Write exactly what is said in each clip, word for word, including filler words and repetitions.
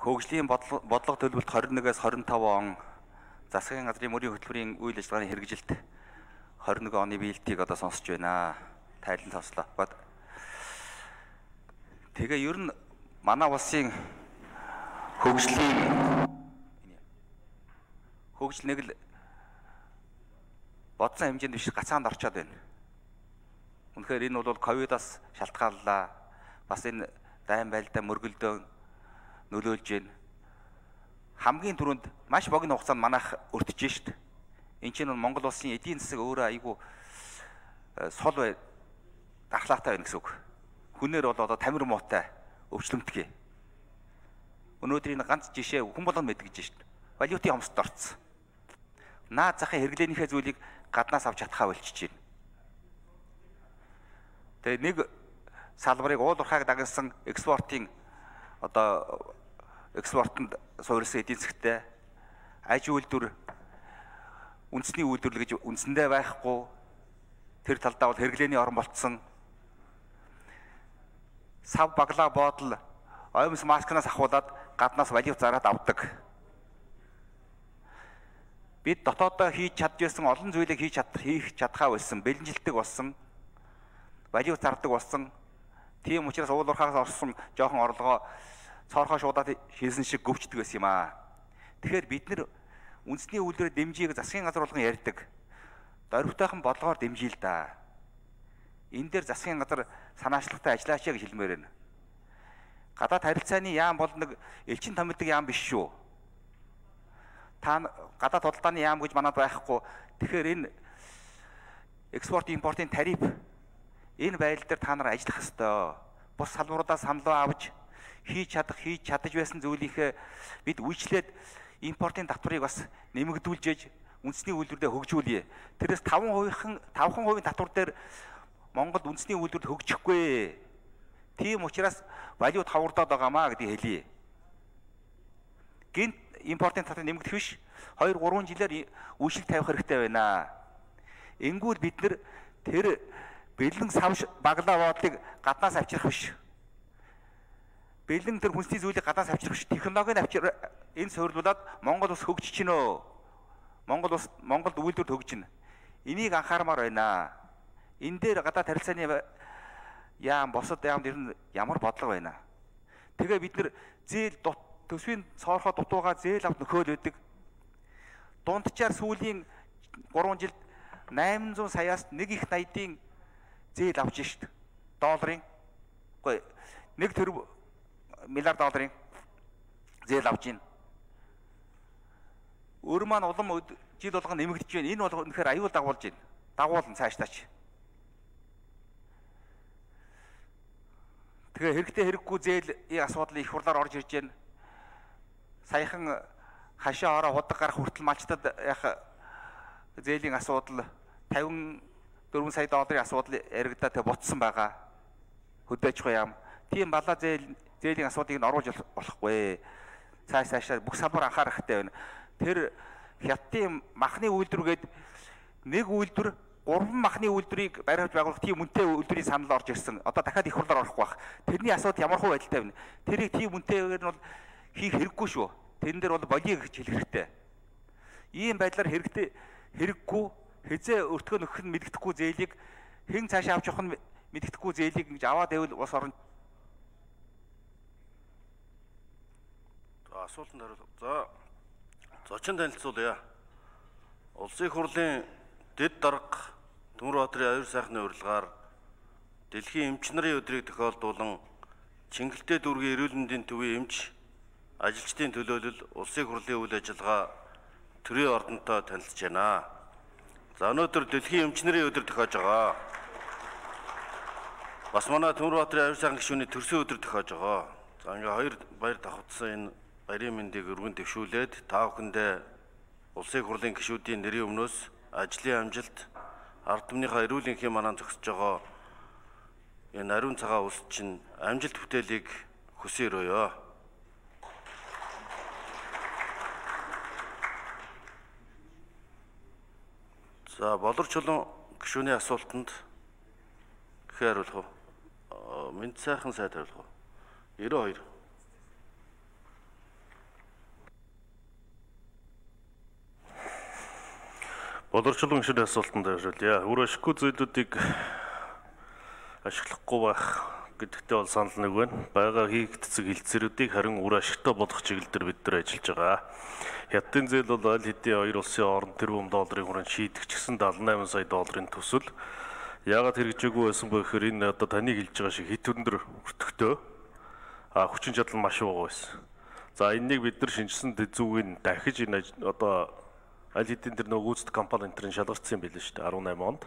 Хөгжлийн бодлого төлөвлөлт twenty-one-аас twenty-five он засгийн газрын мөрийн хөтөлбөрийн үйл ажиллагааны хэрэгжилт twenty-one оны биелтийг одоо сонсож байна. Тайлан сонслоо. Тэгээ ер нь манай улсын хөгжлийн хөгжил нэг л бодсон хэмжээнд биш гацаанд орчоод байна. Үнэхээр энэ бол ковидоос шалтгааллаа. Бас энэ дайн байлдаа мөргөлдөөн нөлөөлж байна. Хамгийн түрүүнд маш богино хугацаанд манайх өртөж шít. Энд чинь Монгол улсын эдийн засаг өөрөө айгүй сул бай дархлаатай байна гэсэн үг. Хүнээр бол одоо тамир муутай өвчлөмтгий. Өнөөдөр энэ ганц жишээ хүн болгон мэдгэж шít. Валютын хомсдод орцсон. Наад захын хэрэглээнийхээ зүйлийг гаднаас авч чадхаа болчихж байна. Тэгээ нэг салбарыг уулуурхайг дагнасан экспортын одоо экспортод суурилсан эдийн засгтай аж үйлдвэр үндэсний үйлдвэрлэл гэж үндсэндээ байхгүй тэр талдаа бол хэрэглээний орон болцсон сав баглаа боодол оймс маскнаас ахуулаад гаднаас валют зараад авдаг. Бид дотоодоо хийж чадчихсан олон зүйлийг хийж чад хийх чадхаа болсон, бэлэнжилдэг болсон, валют зардаг болсон. Тийм учраас уулуурхаас орсон жоохон орлогоо цоорхоо шуудаад хийсэн шиг гөвчдөг байсан юм аа. Тэгэхээр бид нэр үндэсний үйлдвэрийн дэмжийг засгийн газар болгон ярьдаг. Дөрвтойхон бодлогоор дэмжийл да. Энэ дээр засгийн газар санаачлагтай ажиллаач гэж хэлмээр байна. Гадаад харилцааны яам бол нэг элчин томилдог яам биш шүү. Та гадаад худалдааны яам гэж манад байхгүй. Тэгэхээр энэ экспорт импортын тариф энэ байдлаар дээр та нар ажиллах ёстой. Бус салбаруудаас саналуу авч хийж чадах, хийж чадаж байсан зүйлийнхээ бид үйлчлээд импортын татварыг бас нэмэгдүүлж үндэсний үйлдвэрлэлд хөгжүүлье. Тэрээс five percent five percent татвар дээр Монгол үндэсний үйлдвэрлэлд хөгжихгүй. Тийм учраас валют хавардаад байгаамаа гэдгийг хэлье. Гинт импортын татвар нэмэгдэх биш. two three жилээр үйлчлэг тавих хэрэгтэй байна. Энгүүл бид нэр тэр бэлэн сав баглаа боодлыг гаднаас авчрах биш. Бэлэн тэр хүнсний зүйлийг гаднаас авчрах биш. Технологиг авчир энэ суйрлуулад Монгол улс хөгжиж гинөө. Монгол улс Монголд үйлдвэрлэл хөгжинэ. Энийг анхаармаар байна. Энэ дээр гадаад харилцааны яам босод яамд ер нь ямар бодлого байна. Тэгээ бид нэр зээл төсвийн цоорхоо дутуугаа зээл авт нөхөөл өгдөг. Дундчаар сүүлийн three жилд eight hundred саяас нэг их найдын зээл авч шít. Долларын. Үгүй нэг тэрбум миллиард долларын зээл авч гин. Өөр маань улам жил болгон нэмэгдэж байна. Энэ бол үнэхээр аюул дагуулж байна. Дагуулна цаашдаач. Тэгээ хэрэгтэй хэрэггүй зээлийн асуудал их хурлаар орж ирж байна. Саяхан хашаа ороо худаг гарах хүртэл малчтад яг зээлийн асуудал fifty-four сая долларын асуудал яригдаад ботсон байгаа. Хөдөөж байгаа юм. Тийм балаа зээл зээлийн асуудыг нь оруулж болохгүй. Цааш цаашаа бүх салбар анхаарах хэрэгтэй байна. Тэр хятадын махны үйлдвэргээд нэг үйлдвэр гурван махны үйлдвэрийг бариулж байгуулах тийм үнэтэй үйлдвэрийн санал орж ирсэн. Одоо дахиад их хурлаар орохгүй байх. Тэрний асуудал ямар хөө байдалтай байна. Тэрийг тийм үнэтэйгээр нь бол хийх хэрэггүй шүү. Тэрэн дээр бол болиё гэж хэлэх хэрэгтэй. Ийм байдлаар хэрэгтэй хэрэггүй хизээ өртгөө нөхөх нь мэддэхгүй зээлийг хэн цаашаа авч явах нь мэддэхгүй зээлийг ингэж аваад байвал бас орон. За асуултанд хариулах. За зочин танилцуулъя. Улсын их хурлын дэд дарга Төмөрбаатарын аюур сайхны урилгаар Дэлхийн эмч нарын өдрийг тохиолдуулан Чингэлтэй дүүргийн эрүүл мэндийн төвийн эмч ажилчдын төлөөлөл улсын их хурлын үйл ажиллагаа төрийн ордонтой танилцж байна. За өнөөдөр Дэлхийн эмч нарын өдөр тохиож байгаа. Бас манай Төмөрбаатарын аюур сайхны гишүүний төрсөн өдөр тохиож байгаа. За ингээ хоёр баяр давхцсан энэ баярын мэндийг өргөн дэвшүүлээд та бүхэндээ улсын их хурлын гишүүдийн нэрийн өмнөөс ажлын амжилт, ард түмнийхээ эрүүл энхийн манаа зогсож байгаа энэ ариун цагаан улс чинь амжилт бүтээлийг хүсэн өрөөё. За болор чулуун гишүүний асуултанд гэхээр хариулах уу? Мэд сайхан сайд хариулах уу? ninety-two. Боловсролын гишүүний асуултанд хариулъя. Үр ашиггүй зүйлүүдийг ашиглахгүй байх гэдэгтээ бол санал нэг байна. Бага хийгдцэг хилцээрүүдийг харин үр ашигтай болгох чиглэлээр бид нар ажиллаж байгаа. Хятадын зээл бол аль хэдийн хоёр улсын хооронд тэрбум долларын хүрээнд шийдэх ч гэсэн дадлан найман сая долларын төсөл. Яагаад хэрэгжээгүй байсан бэ гэхээр энэ одоо таны хэлж байгаа шиг хит өндөр өртөгтэй а хүчин чадал маш бага байсан. За энэнийг бид нар шинжилсэн зүгийг дахиж энэ одоо аль хэдийн тэр нөгөө гүйцэтгэх компани энтрийн шалгартсан юм билээ шүү дээ арван найман онд.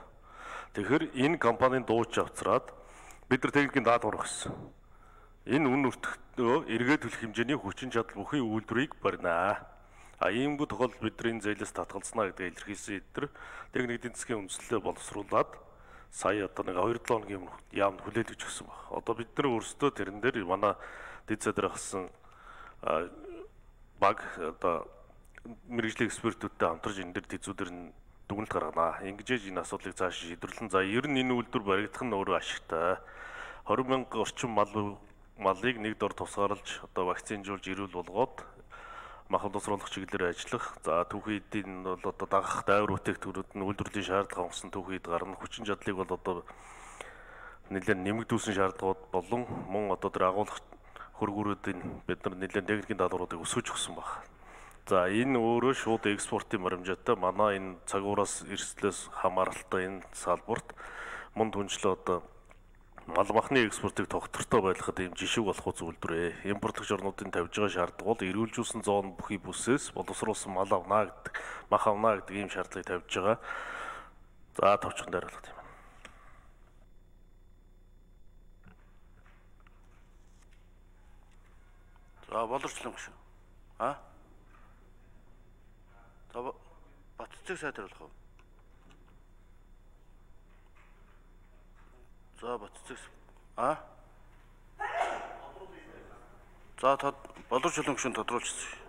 Тэгэхээр энэ компанийн дууч авцраад бид нар техникийн даатгавар өгсөн. Энэ үн өртөгтөө эргээд төлөх хэмжээний хүчин чадал бүхий үйлдвэрийг барина. А иймгүй тохиолдолд бид нар энэ зээлээс татгалзнаа гэдэг илэрхийлсэн эдгээр техник эдийн засгийн үндэслэлээ боловсруулад сая одоо нэг хоёр долоо хоногийн яамд хүлээлгэж өгсөн баг. Одоо бид нар өөрсдөө тэрэн дээр манай дэд задраа хасан баг одоо мэрэгжлийн экспертүүдтэй хамтарч энэ дээр тэзүүдэр нь дүгнэлт гарганаа. Ингэж энэ асуудлыг цааш шийдвэрлэн за ер нь энэ үйлдвэр баригдах нь өөрөө ашигтай. двадцать мянга орчим мал малыг нэг дор тусгаарлаж одоо вакцинжуулж ирүүл болгоод мах боловсруулах чиглэлээр ажиллах. За түүхий эдийн бол одоо дагах дайвар бүтээгдэхүүнүүд нь үйлдвэрлэлийн шаардлага хангасан түүхийд гарна. Хүчин чадлыг бол одоо нэлээд нэмэгдүүлсэн шаардлагууд болон мөн одоо тэр агуулгах хөргүүрүүдийн бид нар нэлээд техникийн даалгавруудыг өсгөж өгсөн баг. За энэ өөрөө шууд экспортын баримжаатай манай энэ цагуураас эрсдлээс хамааралтай энэ салбарт мөн түншлээ одоо мал махны экспортыг тогтвортой байлгахад ийм жишг болох зүйлдвэрээ. Импортлогч орнуудын тавьж байгаа шаардлага бол эрүүлжүүлсэн зоон бүхий бүсээс боловсруулсан мал авнаа гэдэг, мах авнаа гэдэг ийм шаардлагыг тавьж байгаа. За товчхон дайруулах юм. За боловсролын гишүүн. А? За Батцэг сайдруулах уу? За Батцэг. А? За тод боловсролын гишүүн тодруулчихсан.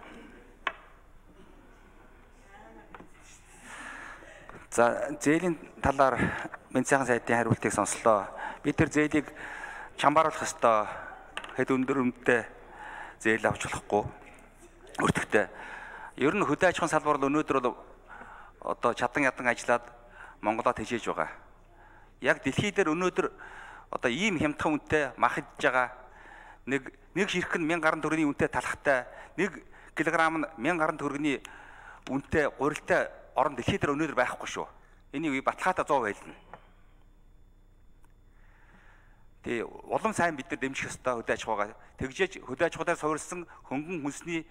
За зээлийн талаар Мэнд сайхан сайдын хариултыг сонслоо. Бид тэр зээлийг чамбааруулах ёстой. Хэд өндөр үнэтэй зээл авч болохгүй өртөгтэй. Ер нь хөдөө аж ахуйн салбар бол өнөөдөр бол одоо чадан ядан ажиллаад Монголоод хижээж байгаа. Яг дэлхий дээр өнөөдөр одоо ийм хямдхан үнэтэй мах идж байгаа нэг нэг ширхэг нь мянган гаруй төгрөгийн үнэтэй талхтай нэг килограмм нь мянган гаруй төгрөгийн үнэтэй гурилтай орон дэлхий дээр өнөөдөр байхгүй шүү. Энийг баталгаатай сто байлна. Тэгээ улам сайн бид нар дэмжих ёстой хөдөө аж ахуйгаа. Тэгжээж хөдөө аж ахуйдаар суурилсан хөнгөн хүнсний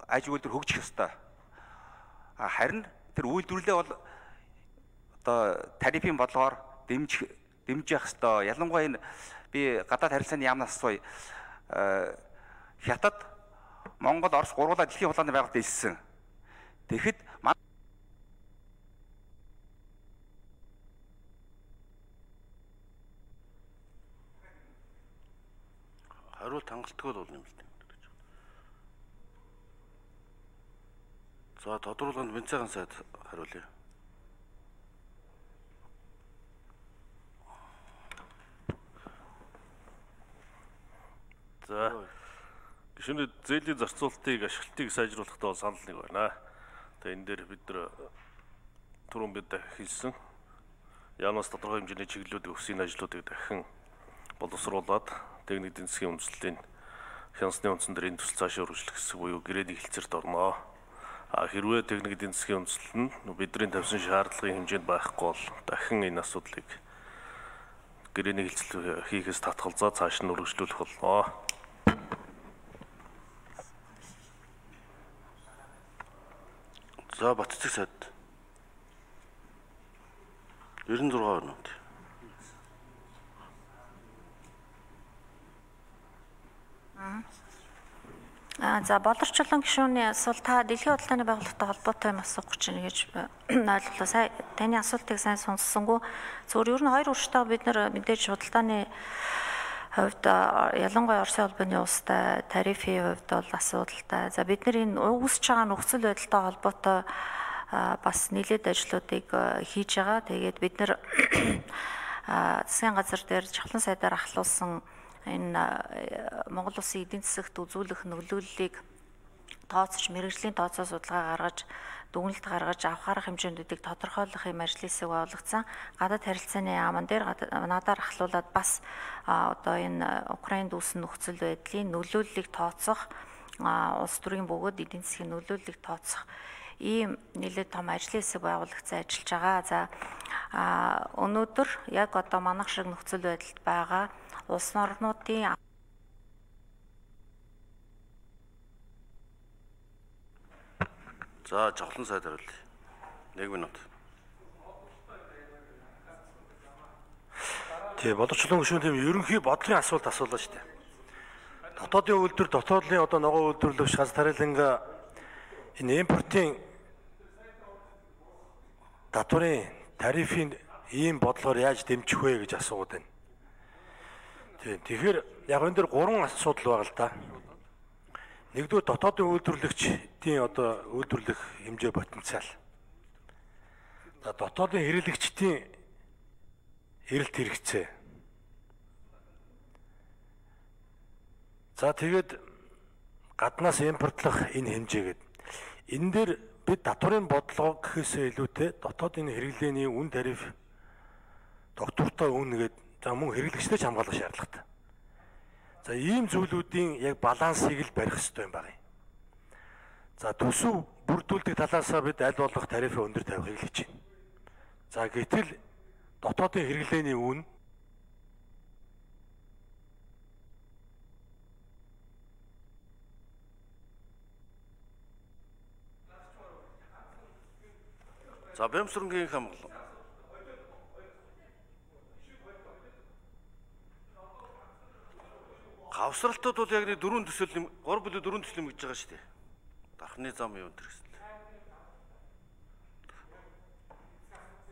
аж үйлдвэр хөгжих ёстой. Харин тэр үйлдвэрлэлээ бол одоо тарифын бодлогоор дэмжих дэмжих ёстой. Ялангуяа энэ би гадаад харилцааны яамнаас асууя. Хятад, Монгол, Орос гурвуулаа дэлхийн хулгааны байгууллагад илсэн. Тэгэхэд хариулт хангалттай бол юм л дээ. За тодруулганд Мэнд сайхан сайд хариулъя. За гишүүний зээлийн зарцуулалтыг ашиглалтыг сайжруулахдаа бол санал нэг байна. Тэгээ энэ дээр бид нар түрүүн бид хэлсэн яамнаас тодорхой хэмжээний чиглэлүүдийг өсгийн ажлуудыг дахин боловсруулад техник эдийн засгийн үндэслэлийн хянсны үндсэн дээр энэ төсөл цаашаа үргэлжлэх гэсэн буюу гэрээний хэлцээрт орно. А хэрвээ техник эдийн засгийн үндэслэл нь бидний тавьсан шаардлагын хэмжээнд байхгүй бол дахин энэ асуудлыг гэрээний хэлцэл хийхээс татгалзаа цааш нь үргэлжлүүлэх болно. За Батцэг сайд девяносто шесть минут. А за боловсролын гишүүний асуулт та дэлхийн худалдааны байгууллагатай холбоотой юм асуух гэж байна гэж ойлголоо. Сая таны асуултыг сайн сонссонгүй. Зөвхөн ер нь хоёр урштай бид нар мэдээж худалдааны хувьд ялангуяа Оросын холбооны улстай тарифын хувьд бол асуудалтай. За бид нар энэ үүсэж байгаа нөхцөл байдалтай холбоотой бас нэлээд ажлуудыг хийж байгаа. Тэгээд бид нар засгийн газар дээр жавхлан сайдаар ахлуулсан энэ Монгол Улсын эдийн засагт үзүүлэх нөлөөллийг тооцож мэргэжлийн тооцоо судалгаа гаргаж дүгнэлт гаргаж авах арга хэмжээндүүдийг тодорхойлох юм ажлыг байгуулагдсан. Гадаад харилцааны яамн дээр надаар ахлуулаад бас одоо энэ Украинд үүссэн нөхцөл байдлын нөлөөллийг тооцох, улс төрийн бөгөөд эдийн засгийн нөлөөллийг тооцох ийм нэлээд том ажлын хэсэг байгуулагдсан ажиллаж байгаа. За өнөөдөр яг одоо манайх шиг нөхцөл байдалд байгаа улс орнуудын За жавхлан сайд хариулъя. нэг минут. Тий, боловсролын гишүүн тийм ерөнхий бодлогын асуулт асуулаа шүү дээ. Дотоодын үйлдвэр, дотоодын одоо ногоо үйлдвэрлэгч ганц тариланга энэ импортын татварын тарифын ийм бодлогоор яаж дэмжих вэ гэж асууад байна. Тийм. Тэгэхээр яг энэ дээр гурван асуудал байгаа л да. Нэгдүгээр дотоодын үйлдвэрлэгчдийн одоо үйлдвэрлэх хэмжээ потенциал. За дотоодын хэрэглэгчдийн эрэлт хэрэгцээ. За тэгээд гаднаас импортлох энэ хэмжээгээд энэ дээр бид татварын бодлого гэхээсээ илүүтэй дотоодын хэрэглээний үн тариф доктортой үнэгээд за мөн хэрэглэгчдээ ч хамгаалах шаардлагатай. За ийм зүйлүүдийн яг балансыг л барих хэрэгтэй юм байна. За төсөв бүрдүүлдэг талаасаа бид аль болох тарифыг өндөр тавихыг л хийж байна. За гэтэл дотоодын хэрэглээний үн За Бямсрынгийн хамгаалал. Гавсралтууд бол яг нэг дөрвөн төсөл юм, гур бүлэг дөрвөн төсөл юм гэж байгаа шүү дээ. Дархны зам юу энэ гэсэн.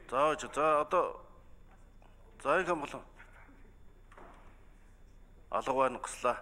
За за одоо за их хамгаалал. Алга байна гослаа.